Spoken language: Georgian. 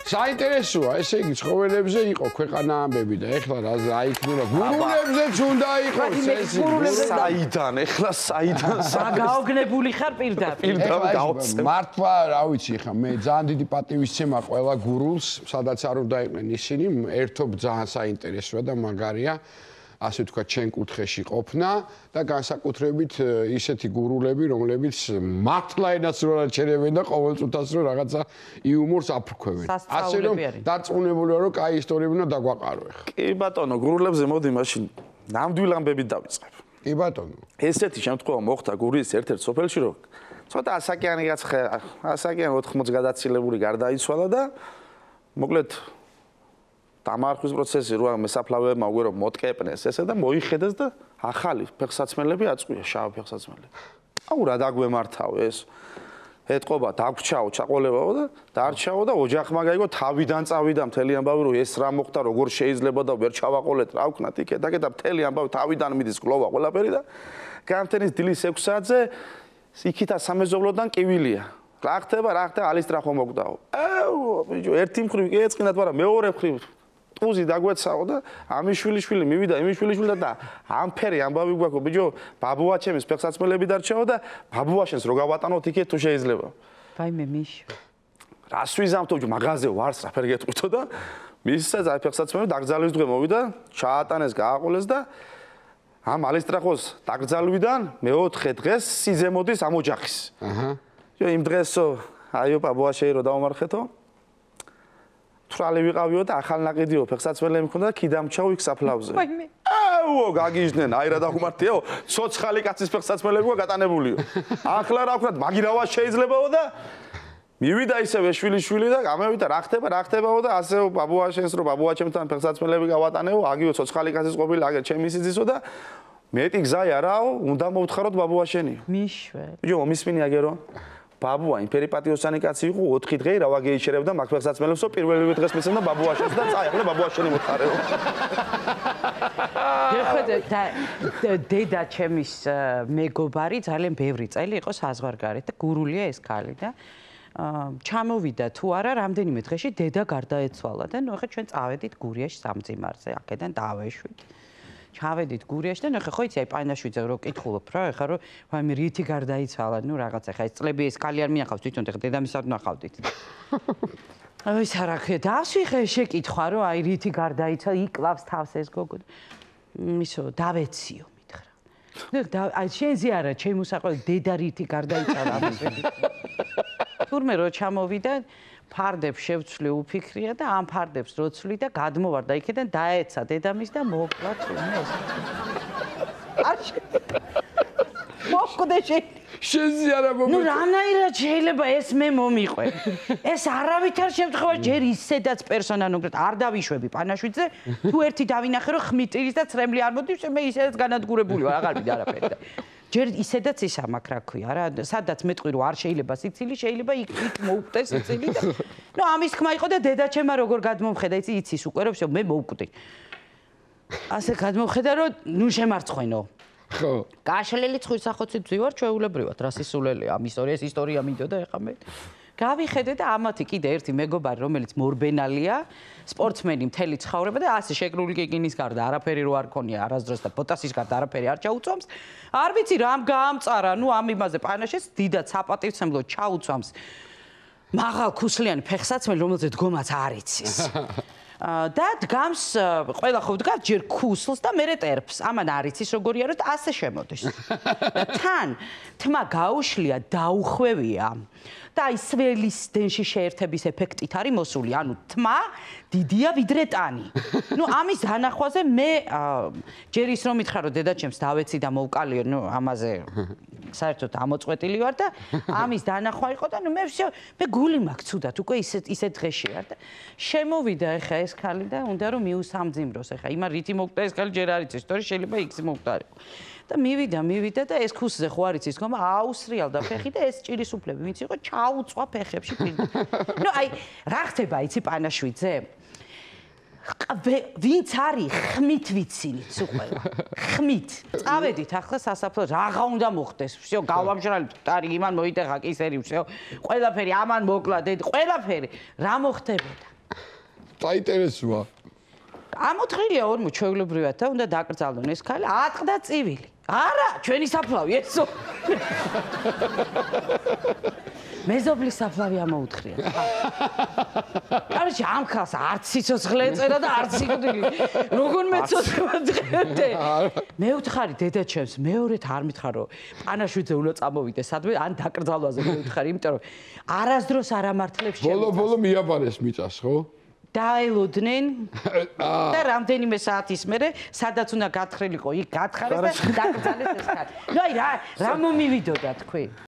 საინტერესოა, ესე იგი ცხოველებზე იყო ქვეყანა ამბები და ეხლა რა იქნება? გურულებზეც უნდა იყოს ეს. საიდან, ეხლა საიდან? გაოგნებული ხარ პირდაპირ. მართლა, რა ვიცი, ეხლა მე ძალიან დიდი პატივისცემა ყველა გურულს, სადაც არ უნდა იყვნენ ისინი, ერთობ ძალიან საინტერესოა და მაგარია. ასე ვთქვათ, ჩვენ კუთხეში ყოფნა და განსაკუთრებით ისეთი გურულები, რომლებიც მართლა ენას რო არჩერებენ და ყოველწუთას რო რაღაცა იუმორს აფრქვევენ. ასე რომ დარწმუნებულია, რომ კაი ისტორიები უნდა დაგვაყარო ახლა. კი ბატონო, გურულებზე მოდი მაშინ ნამდვილ ამბებით დავიწყებ. კი ბატონო. ესეთი შემთხვევა მოხდა გურიის ერთ-ერთ სოფელში, რომ ცოტა ასაკიანი გაცხა, ასაკიანი 80 გადაცილებული გარდაიცვალა და მოკლედ დამარხვის პროცესი რა მესაფლავეებმა უკვე რომ მოტკეპნეს ესე და მოიხედეს და ახალი ფეხსაცმელები აწყვია შავ ფეხსაცმელები. აუ რა დაგვემართავ ეს. ეთყობა დაგვრჩაო, ჩაყოლებაო და დარჩაო და ოჯახმა გაიგო თავიდან წავიდა მთელი ამბავი რომ ეს რა მოხდა, როგორ შეიძლება და ვერ ჩავაყოლეთ, რა ვქნათ იქ და მთელი ამბავი თავიდან მიდის გლოვა ყველაფერი და გამთენის დილის 6 საათზე იქითა სამეზობლოდან კივილია. რა ხდება, ალისტრახო მოგდაო. აუ ბიჭო, ერთი მხრივ კი ეწყინათ, მაგრამ მეორე მხრივ ტუზი დაგვეცაო და ამის შვილიშვილი მივიდა, იმის შვილიშვილი და ამფერი ამბავი გვაქვს, ბიჭო, ბაბუაჩემის ფეხსაცმელები დარჩაო და ბაბუაშენს რო გავატანოთ იქეთ თუ შეიძლება. ვაიმე მიშო. რას ვიზამთო, ბიჭო, მაღაზე ვარს რაფერი გეტყვითო და მისცა ფეხსაცმელი დაგზავნის დღე მოვიდა, ჩაატანეს, გააყოლეს და ამ ალისტრახოს დაგზავნიდან მეოთხე დღეს სიძე მოდის ამ ოჯახის. აჰა. იმ დღესო, აიო ბაბუაშეი რო დავმარხეთო. თრალი ვიყავიო და ახალ ნაყიდიო ფეხსაცმელები მქონდა და კიდამჩაო იქ საფლავზე. აუო, გაგიჟდნენ, აი რა დაგუმართიაო, ცოცხალი კაცის ფეხსაცმელები გატანებულიო. ახლა რა ვქნათ, მაგირავა შეიძლებაო და მივიდა ისევე შვილიშვილი და გამევიდა რა ხდებაო და ასეო ბაბუაშენს რო ბაბუაჩემთან ფეხსაცმელები გავატანეო, აგიო ცოცხალი კაცის ყოფილი, აგერ ჩემი სიძისო და მეტი გზა არაო, უნდა მოვთხაროთ ბაბუაშენიო. მიშვე. ბიჭო, მომისმინე აგერო. ბაბუა იმფერი პატიოსანი კაცი იყო 4 დღე რა ვაგეიჩერებდა მაგ ფეხსაცმელებსო პირველივე დღეს მისცემდა ბაბუაშენს და წაიღო და ბაბუაშენი მოთხარეო. დედა ჩემის მეგობარი ძალიან ბევრი წელი იყო საზღვარგარეთ და გურულია ეს ქალი და ჩამოვიდა თუ არა რამდენიმე დღეში დედა გარდაეცვალა და ნუ ახლა ჩვენ წავედით გურიაში სამძიმარზე აქედან დავეშვით. ჩავედით გურიაში და ნუ ხო იცი აი პაინაშვიძე რო კითხულობ რა ეხა რომ ვაიმე რითი გარდაიცვალა ნუ რაღაცა ეხა ეს წლები ეს ქალი არ მინახავს თვითონ ეხა დედამისად ნახავდით. აი ეს არა ხე დავსვიხე შეკითხვა რომ აი რითი გარდაიცვალა იკლავს თავს ეს გოგო. ისო დავეციო მითხრა. ნუ აი შენზე არა ჩემი მოსაყოლი დედა რითი გარდაიცვალა ამის ვეკითხვა. თურმე რო ჩამოვიდა ფარდებს შევცვლი უფიქრია და ამ ფარდებს როცვლი და გადმოვარდა იქიდან დაეცა დედამის და მოკლა თუნეს. მოკვდე შენზე არა მომეწონა. ნუ რანაირად შეიძლება ეს მე მომიყვე. ეს არავითარ შემთხვევაში ჯერ ისედაც პერსონალურად არ დავიშვები პანაშვიძე, თუ ერთი დავინახე რომ ხმიტირის და ცრემლი არ მოდის, მე ისედაც განადგურებული ვარ, აღარ ვიდა არაფერი და ჯერ ისედაც ის ამაკ რა ქვია რა, სადაც მეტყვი რომ არ შეიძლება სიცილი, შეიძლება იქ მოუკვდე სიცილი და ნუ ამის ხმა იყო და დედაჩემა როგორ გადმომხედა, იცის უკვე რომ მე მოვკვდი. ასე გადმომხედა რომ ნუ შემარცხვენო. ხო. გაშლილი ცხვრისახოცით ვზივარ ჩვეულებრივად, რა სისულელია ამ ისტორია მინდოდა ეხა მე. გავიხედე და ამათი კიდე ერთი მეგობარი, რომელიც მორბენალია, სპორტსმენი მთელი ცხოვრება და ასე შეკრული კიკინის გარდა არაფერი რო არ ქონია არასდროს და პოტასის გარდა არაფერი არ ჩაუწვამს. არ ვიცი რამ გაამწარა, ნუ ამ იმაზე პანაშეს დიდად საპატივცემლო ჩაუწვამს. მაღალ ქუსლიანი ფეხსაცმელი, რომელზეც დგომაც არ იცის. და დგამს ყველა ხო დგას ჯერ ქუსლს და მერე ტერფს. ამან არ იცის როგორია რომ ასე შემოდის. და თან თმა გაუშლია, დაუხვევია. და აი სველის დენში შეერთების ეფექტით არის მოსული. ანუ თმა დიდია ვიდრე ტანი. ნუ ამის დანახვაზე მე ჯერ ის რომ მითხრა რომ დედაჩემს დავეცი და მოვკალიო, ნუ ამაზე საერთოდ ამოწყვეტილი ვარ და ამის დანახვა იყო და ნუ მე გული მაქვს ცუდად უკვე ისეთ დღეში ვარ და შემოვიდა ეხა ეს ქალი და უნდა რომ მიუსამძიმროს ეხა იმან რითი მოვკვდა ეს ქალი ჯერ არ იცის ისტორია შეიძლება იქს მოვკვდარიყო და მივიდა და ეს ქუსზე ხო არ იცის ხომ აუსრიალდა ფეხი და ეს ჭირის უფლები ვინც იყო ჩაუწვა ფეხებში პირდაპირ ნუ აი რა ხდება იცი პანაშვიძე ვინც არის ხმით ვიცილით უყველა ხმით წავედით ახლა სასაფლაოზე რაღა უნდა მოხდეს всё გავამჟრალით ტარი იმან მოიტეხა კისერი всё ყველაფერი ამან მოკლა დედი ყველაფერი რა მოხდებოდა საინტერესოა. ამოთხრილია 40 ჩვეულებრივად და უნდა დაკრძალონ ეს ქალი, ატყდა წივილი. არა, ჩვენი საფლავი ესო. მეზობლის საფლავი ამოუთხრია. კაროჩე ამ ხალხს არც სიცოცხლე ეწერა და არც სიკვდილი. როგორ მეცოცხლე? მე ვთხარი დედაჩემს, მეორედ არ მითხარ რომ პანაშვიდზე უნდა წამოვიდე სადმე, ან დაკრძალვაზე მე ვთხარი, იმიტომ რომ არასდროს არ ამართლებს ჩემს. ბოლო მიაბარეს მიწას, ხო? დაელოდნენ და რამდენიმე საათის მერე სადაც უნდა გათხრილიყო, იქ გათხარეს და დაკრძალეს ეს ქალი. ნუ აი რა მომივიდოდა თქვი?